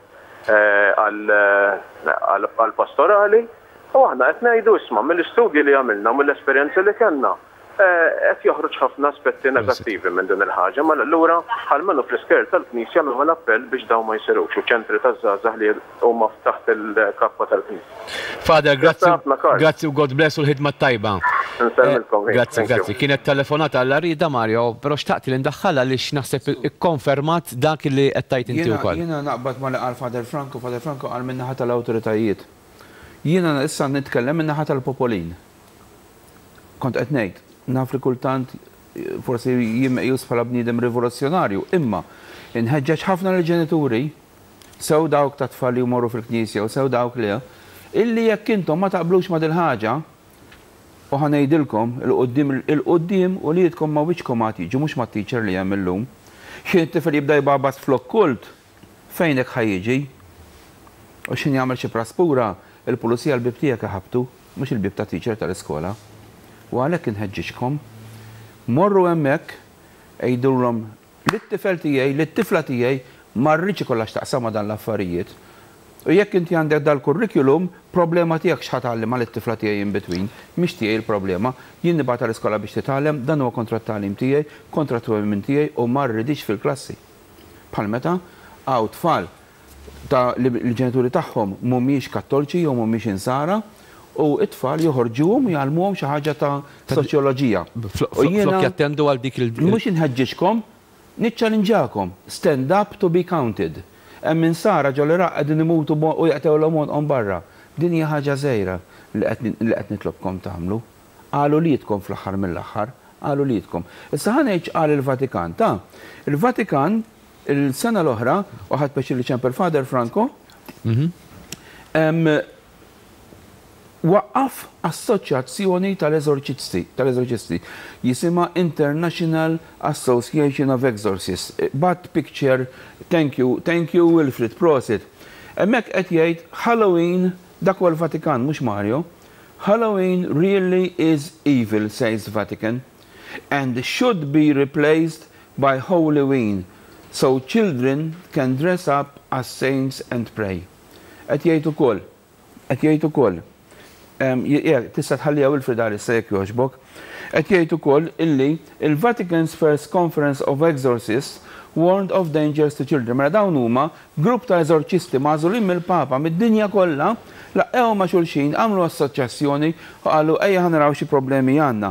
għal-pastorali, u aħna qed ngħidu, isma', mill-istudji li għamilna, mill-esperjenzi li kellna, qed joħroġ ħafna aspetti negattivi minn din il-ħaġa, ma allura almenu fl-iskejjel tal-Knisja nagħmel appell biex dawn ma jsirux u ċentri taż-żgħażagħ li huma taħt il-kappa tal-Knisja. Father, grazzi, grazzi u God bless u l-ħidma tajba. Nsellmilkom. Grazzi, grazzi. Kienet telefonata għal rida, Mario, però xtaqt li ndaħħalha għaliex naħseb ikkonfermat dak li qed tgħid inti wkoll. Jiena naqbad ma li qal Father Franco. Father Franco qal min-naħa tal-awtoritajiet. Jiena issa nitkellem min-naħa tal-popolin. Kont qed ngħid, naf li kultant forsi jien meqjus bħala bniedem rivoluzzjonarju, imma inħeġġeġ ħafna lill-ġenituri, sew dawk ta' tfal li jmorru fil-knisja u sew dawk li illi jekk intom ma taqblux ma' dil-ħaġa, u ħa ngħidilkom il-qudiem il-qudiem u li jitkom ma' wiċċkom għad jiġu, mhux ma' teacher li hemm illum. Xi tifel jibda jbabas fl-okkult, fejnek ħa jiġi? U x'ħin jagħmel xi praspura, il-pulizija l-bib tiegħek iħabtu, mhux il-bib ta' teacher tal-iskola. U għalhekk inħeġġiġkom, morru hemmhekk, għidulhom lit-tifel tiegħi, lit-tifla tiegħi ma rridx ikollha x'taqsam ma' dan l-affarijiet. U jekk inti għandek dal-kurrikulum, problema tiegħek x'ħa tgħallimha lit-tifla tiegħi in between, mhix tiegħi l-problema. Jien nibgħatha l-iskola biex titgħallem, dan huwa kontra t-tagħlim tiegħi, kontra t-twemmin tiegħi u ma rridix fil-klassi. Bħal meta hawn tfal ta' li l-ġenituri tagħhom mhumiex kattoliċi jew mhumiex insara, u it-tfal joħorġuhom u jgħallmuhom xi ħaġa ta' soċjoloġija. U jiena flok jattendu għal dik il- Mhux inħeġġiġkom, niċċalinġakom, stand up to be counted. Hemm insara ġol-Iraq qegħdin imutu u jaqtgħulhom għonqhom barra. Din hija ħaġa żgħira li qed nitlobkom tagħmlu. Qalu lietkom fl-aħħar mill-aħħar, qalu lietkom. Issa ħa ngħid qal il-Vatikan, ta' il-Vatikan il-sena l-oħra, u ħadt pjaċir li ċempel Father Franco, waqqaf assoċjazzjoni tal-eżorċisti, tal-eżorċisti, jisimha International Association of Exorcists. Bat picture, thank you, thank you Wilfred, prosit. Hemmhekk qed jgħid Halloween, dak huwa l-Vatikan, mhux Mario. "Halloween really is evil," says Vatican, "and should be replaced by Holyween, so children can dress up as saints and pray." Qed jgħid ukoll, qed jgħid ukoll, tista' tħallija, Wilfred, għal jekk jogħġbok. Qed jgħid ukoll illi il-Vatican's first conference of exorcists warned of dangers to children. Mela dawn huma grupp ta' eżorċisti magħżulin mill-Papa mid-dinja kollha, laqgħu ma' xulxin, għamlu assoċjazzjoni u qalu ejja ħa naraw xi problemi għandna.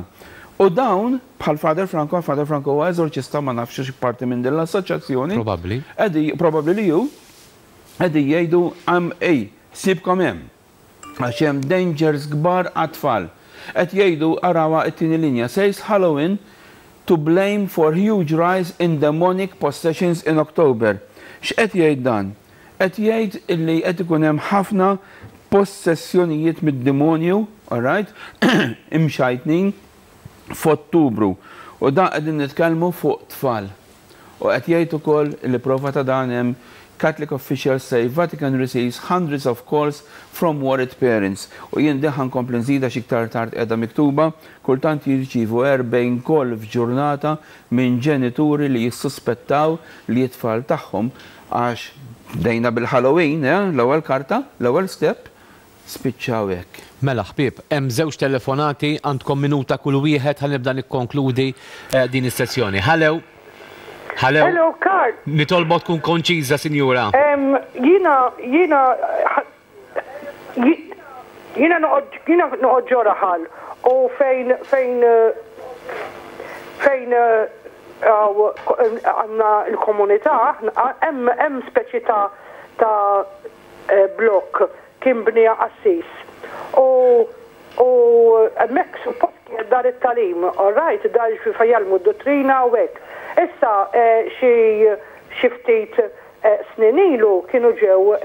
U dawn, bħal Father Franco, Father Franco huwa eżorċista, ma nafx xi parti minn din l-assoċjazzjoni. Probabbli. Qegħdi, probabbli li ju, qegħdi jgħidu għam ej, sibkom hemm. Għax hemm dangers kbar għat-tfal. Qed jgħidu, arawha it-tieni linja, says "Halloween to blame for huge rise in demonic possessions in October." X'qed jgħid dan? Qed jgħid illi qed ikun hemm ħafna possessjonijiet mid-demonju, alright, imxajtnin f'Ottubru. U dan qegħdin nitkellmu fuq tfal. U qed jgħid ukoll li prova ta' dan hemm "Catholic officials say Vatican receives hundreds of calls from worried parents." U jien din ħa nkompli nżida xi iktar tard, qiegħda miktuba, kultant jirċivu erbgħin call f'ġurnata minn ġenituri li jissuspettaw li t-tfal tagħhom, għax bdejna bil-Halloween, eh, l-ewwel karta, l-ewwel step, spiċċaw hekk. Mela ħbieb, hemm żewġ telefonati, għandkom minuta kull wieħed, ħa nibda nikkonkludi eh, din is-sessjoni. Hello. Hello. Hello, Karl. Nitolbok tkun konċiża, sinjura. Em, Jiena, jiena, jiena noqgħod jiena noqgħod ġo raħal u fejn fejn eh, Fejn għandna l-komunità, hemm speċi ta' ta' blok kien bniha qassis. U u hemmhekk suppost kien dar it-tagħlim, all right, dar fejn jgħallmu d-dottrina u hekk. Issa xi xi ftit snin ilu kienu ġew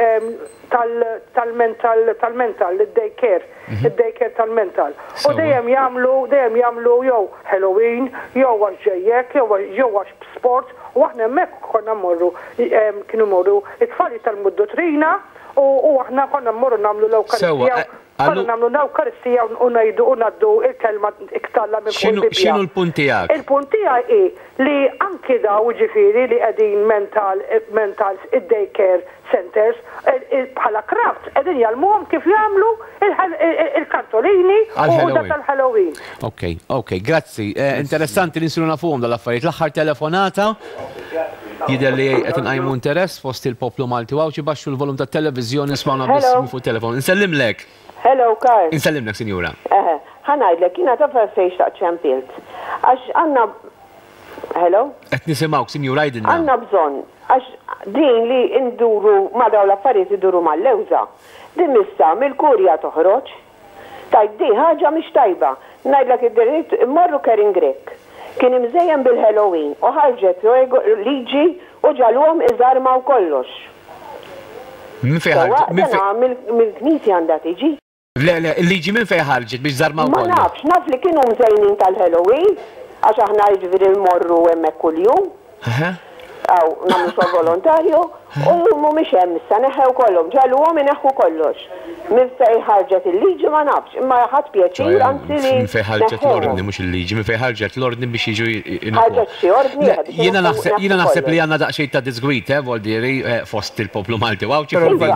tal-mental tal-mental id-daycare, id-daycare tal-mental. U dejjem jagħmlu dejjem jagħmlu jew Halloween, jew għax ġejjek, jew għax sport, u aħna hemmhekk konna mmorru, kienu mmorru it-tfal jitgħallmu d-dottrina u aħna konna mmorru nagħmlu l-Ewkaristija. Konna nagħmlu l-Ewkaristija u ngħidu u ngħaddu il-kelma t'Alla minn fuq il-Bibbja. X'inhu l-punt tiegħek? Il-punt tiegħi hi li anki daw ġifieri li qegħdin mental mentals id-daycare centers bħala crafts qegħdin jgħallmuhom kif jagħmlu il-kartolini u dak tal-Halloween. Ok, ok, grazzi. Interessanti li nsiru nafuhom dal-affarijiet. L-aħħar telefonata jidher li qed inqajmu interess fost il-poplu Malti u Għawdxi, baxxu l-volum tat-televiżjoni, smawna biss fuq telefon. Insellimlek. Hello, Karl. Insellimlek, sinjura. Eħe, ħa ngħidlek, jiena taf fejn xtaqt ċempilt. Għax għandna. Hello? Qed nisimgħuk, sinjura, għidilna. Għandna bżonn, għax din li nduru ma daw l-affarijiet iduru mal-lewża. Din issa mill-kurja toħroġ. Tgħid di ħaġa mhix tajba. Ngħidlek id-dritt immorru Karin Grech. Kien imżejjen bil-Halloween u ħarġet liġi u ġagħluhom iżarmaw kollox. Min fejn ħarġet? Mill-Knisja għandha tiġi. Le, le, il-liġi minn fejn ħarġet biex żarmaw kollox? Ma nafx, naf li kienu mżejnin tal-Halloween, għax aħna jiġifieri mmorru hemmhekk kuljum. Aw, nagħmlu xogħol volontarju, u mhumiex hemm issa, neħħew kollhom, ġagħluhom ineħħu kollox. Minn fejn ħarġet il-liġi ma nafx, imma ħadt pjaċir anzi li. Minn fejn ħarġet l-ordni, mhux il-liġi, minn fejn ħarġet l-ordni biex jiġu Ħarġet xi ordni. Jiena naħseb jiena naħseb li għandna daqsxejn ta' diżgwid, eh, voldieri fost il-poplu Malti u Għawdxi fuq din.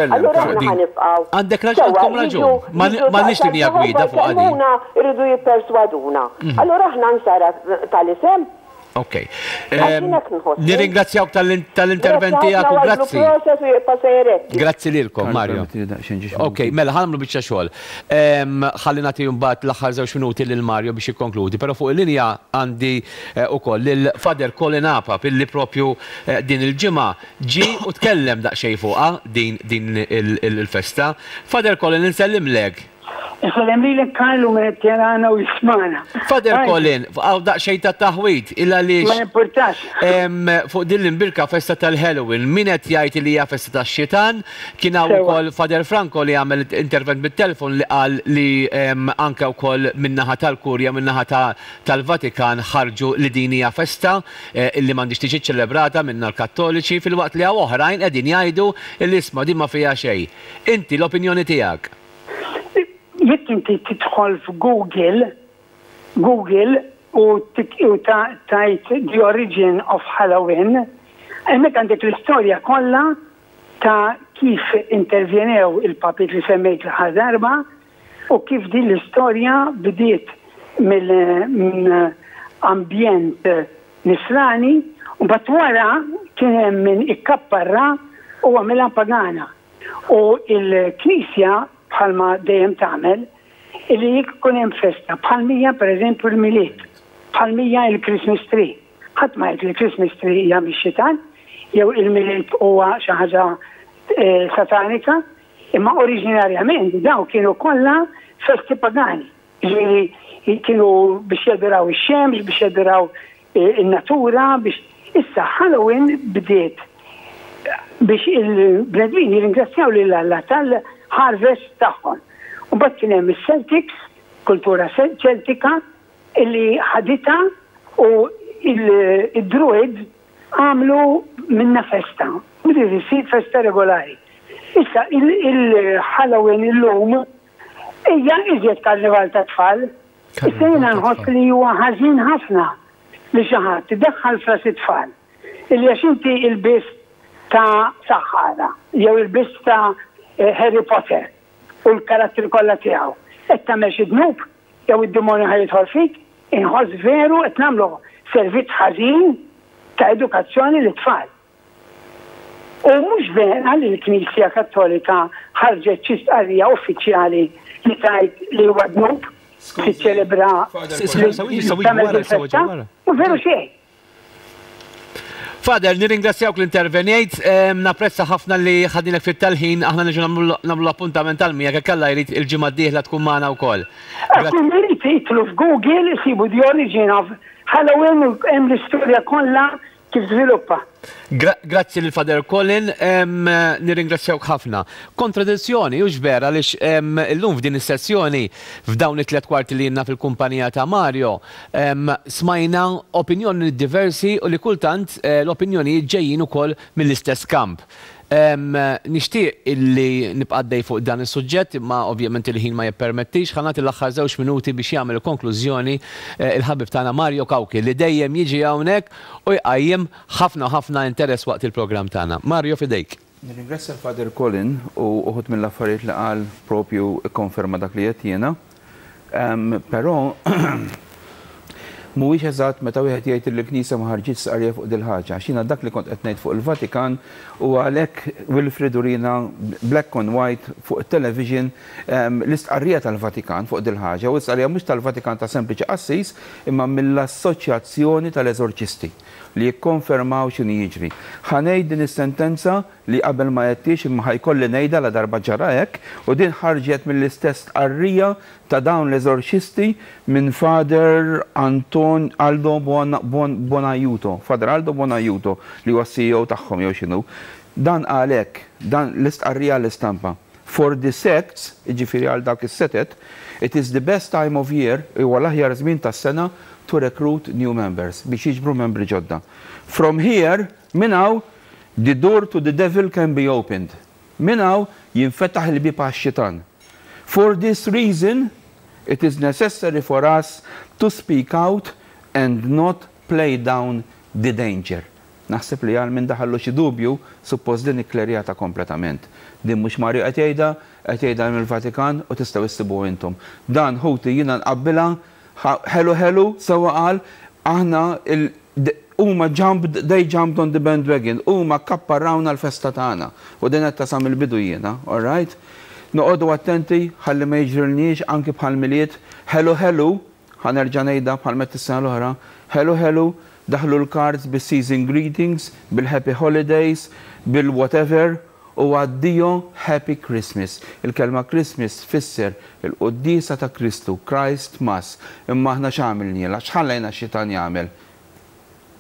Allura aħna ħa nibqgħu. Għandek raġun, għandkom raġun. M'għandniex linja gwida fuq din. Irridu jipperswaduna. Allura aħna nsara tal-isem. Ok. Nirringrazzjawk tal-intervent tiegħek u grazzi. Grazzi lilkom, Mario. Ok, mela ħa nagħmlu biċċa xogħol. Ħalli nagħti mbagħad l-aħħar żewġ minuti lil Mario biex jikkonkludi, però fuq il-linja għandi ukoll lil Father Colin Apap illi propju din il-ġimgħa ġie u tkellem daqsxejn fuqha din din il-festa. Father Colin, insellimlek. Insellem lilek Karl u min qed jarana u jismagħna. Father Colin, hawn daqsxejn ta' taħwid illa għaliex. Ma jimpurtax. Fuq din l-imbirka festa tal-Halloween, min qed jgħid li hija festa tax-xitan, kien hawn ukoll Father Franco li għamel intervent bit-telefon li qal li anke wkoll min-naħa tal-Kurja, min-naħa tal-Vatikan ħarġu li din hija festa illi m'għandix tiġi ċċelebrata minna l-Kattoliċi, filwaqt li hawn oħrajn qegħdin jgħidu li isma' din ma fiha xejn. Inti l-opinjoni tiegħek? Jekk inti tidħol f'Google, Google u tgħid "The Origin of Halloween", hemmhekk għandek l-istorja kollha ta' kif intervjenew il-papiet li semmejt l-aħħar darba u kif din l-istorja bdiet minn ambjent nisrani u mbagħad wara kien hemm min ikkapparra u għamilha pagana. U il-Knisja bħalma dejjem tagħmel illi jekk ikun hemm festa bħal mija pereżempju l-Milied, bħal mija il-Christmas tree. Ħadd ma jgħid li l-Christmas tree hija mix-xitan jew il-Milied huwa xi ħaġa satanika, imma oriġinarjament daw kienu kollha festi pagani. Ġifieri kienu biex jaduraw ix-xemx, biex jaduraw in-natura, biex issa Halloween bdiet biex il-bnedmin jirringrazzjaw lil Alla tal-harvest tagħhom. U mbagħad kien hemm is-Celtics, kultura ċeltika, illi ħaditha u il-Druid għamlu minna festa. Bdiet issir festa regolari. Issa il-Halloween illum hija iżjed karnival ta' tfal. Issa jiena nħoss li huwa ħażin ħafna li xi ħadd idaħħal fras it-tfal. Illi għax inti il-biss ta' saħħara jew il-biss ta' Harry Potter u l-karattri kollha tiegħu. Qed tagħmel xi dnub jew id-demonju ħa jidħol fik, inħoss veru qed nagħmlu servizz ħażin ta' edukazzjoni lit-tfal. U mhux vera li l-Knisja Kattolika ħarġet xi stqarrija uffiċjali li tgħid li huwa dnub. tiċċelebra tagħmel il-festa, mhu veru xejn. Father, nirringrazzjawk li intervenjejt, napprezza ħafna li ħadnilek ftit tal-ħin, aħna niġu nagħmlu l-appuntament tal-miegħek jekk Alla jrid il-ġimgħa d-dieħla tkun magħna wkoll. Kull min irid jidħlu f'Google isibu the origin of Halloween u hemm l-istorja kollha kif żviluppa. Grazzi lil Father Colin, nirringrazzjawk ħafna. Kontradizzjoni, hux vera, għaliex illum f'din is-sessjoni, f'dawn it-tliet kwarti li jiena fil-kumpanija ta' Mario, smajna opinjoni diversi u li kultant eh, l-opinjoni ġejjin ukoll mill-istess kamp. Nixtieq illi nibqa' għaddej fuq dan is-suġġett, imma ovvjament il-ħin ma jippermettix. Ħa nagħti l-aħħar żewġ minuti biex jagħmel konklużjoni eh, il-ħabib tagħna Mario Cauchi li dejjem jiġi hawnhekk u jqajjem ħafna ħafna interess waqt il-programm tagħna. Mario, fidejk. Nirringrazzja l-Father Colin u uħud mill-affarijiet li qal propju konferma dak li qed jiena. Però mhuwiex eżatt meta wieħed jgħid li l-Knisja ma ħarġitx stqarrija fuq dil-ħaġa. X'jiena dak li kont qed ngħid fuq il-Vatikan u għalhekk Wilfred urina black on white fuq it-television l-istqarrija tal-Vatikan fuq dil-ħaġa, u l-istqarrija mhux tal-Vatikan ta' sempliċi qassis imma mill-Assoċjazzjoni tal-Eżorċisti li jikkonfermaw x'inhu jiġri. Ħa ngħid din is-sentenza li qabel ma għedtix imma ħa jkolli ngħidha la darba ġara hekk, u din ħarġet mill-istess stqarrija ta' dawn l-eżorċisti minn Father Anton Aldo Bonaiuto, Father Aldo Bonaiuto li huwa C E O tagħhom jew x'inhu. Dan għalhekk, dan l-istqarrija l-istampa. For the sects, jiġifieri għal dawk is-setet, it is the best time of year, huwa l-aħjar żmien tas-sena to recruit new members, biex jiġbru membri ġodda. From here, minn hawn, the door to the devil can be opened. Minn hawn jinfetaħ il-bieb għax-xitan. For this reason, it is necessary for us to speak out and not play down the danger. Naħseb li għal min daħallu xi dubju, suppost din ikklerjata kompletament. Din mhux Mario qed jgħidha, qed jgħidha mill-Vatikan u tistgħu issibu intom. Dan, ħuti, jiena nqabbilha ħelu ħelu sewwa qal aħna huma jumped, they jumped on the bandwagon, huma kapparrawna l-festa tagħna. U din qed tasam il-bidu jiena, all right? Noqogħdu attenti ħalli ma jiġrilniex anki bħal Milied, ħelu ħelu, ħa nerġa' ngħidha bħal meta s-sena l-oħra, ħelu ħelu, daħlu l-cards bil-season greetings, bil-happy holidays, bil-whatever, u addio Happy Christmas. Il-kelma Christmas tfisser il-qoddisa ta' Kristu, Christ Mass. Imma aħna x'għamilnielha, x'ħallejna xitan jagħmel?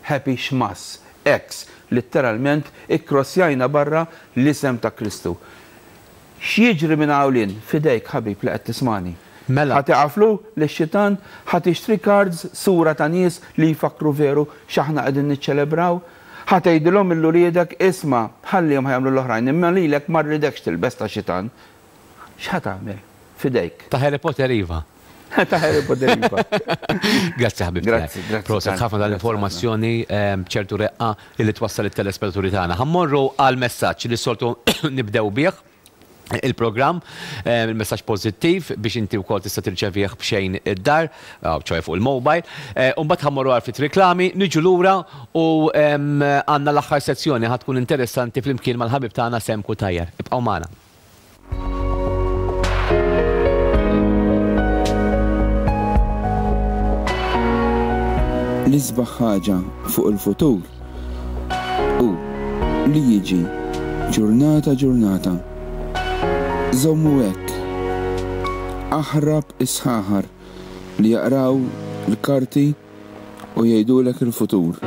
Happy Xmas. X, letteralment, ikkrossjajna barra l-isem ta' Kristu. X'jiġri minn hawn fidejk, ħabib li qed tismani? Mela. Ħa tiqaflu lix-xitan, ħa tixtri cards, sura ta' nies li jfakru veru x'aħna qegħdin niċċelebraw. Ħa tgħidilhom lil uliedek, isma', ħallihom ħa jagħmlu l-oħrajn, imma lilek ma rridekx tilbes ta' xitan. X'ħa tagħmel? Fidejk. Ta' Harry Potter, iva. Ta' Harry Potter, iva. Grazzi, ħabib. Grazzi, grazzi. Proset ħafna tal-informazzjoni ċertu reqqa li twassal it-telespettaturi tagħna. Ħa mmorru għal messaġġ li soltu nibdew bih il-programm, il-messaġġ pożittiv biex inti wkoll tista' tirċevih b'xejn id-dar, ċoè fuq il-mobile. U mbagħad ħa mmorru għal ftit reklami, niġu lura u għandna l-aħħar sezzjoni ħa tkun interessanti flimkien mal-ħabib tagħna Sam Cutajar. Ibqgħu magħna. L-isbaħ ħaġa fuq il-futur u li jiġi ġurnata ġurnata. Żommu hekk. Aħrab is-sħaħar li jaqraw l-karti u jgħidulek il-futur.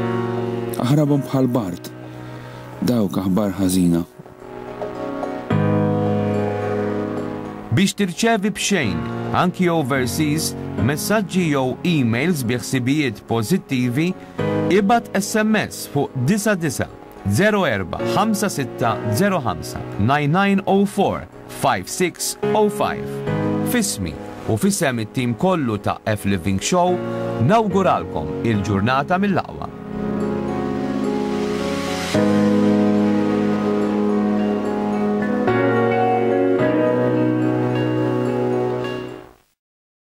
Aħrabhom bħal bard. Dawk aħbar ħażina. Biex tirċevi b'xejn, anki overseas, messaġġi jew emails bi ħsibijiet pożittivi, ibgħat S M S fuq disgħa disgħa zero erba' ħamsa sitta zero ħamsa nine nine zero four five six zero five. F'ismi u f'isem it-tim kollu ta' F Living Show nawguralkom il-ġurnata mill-aqwa.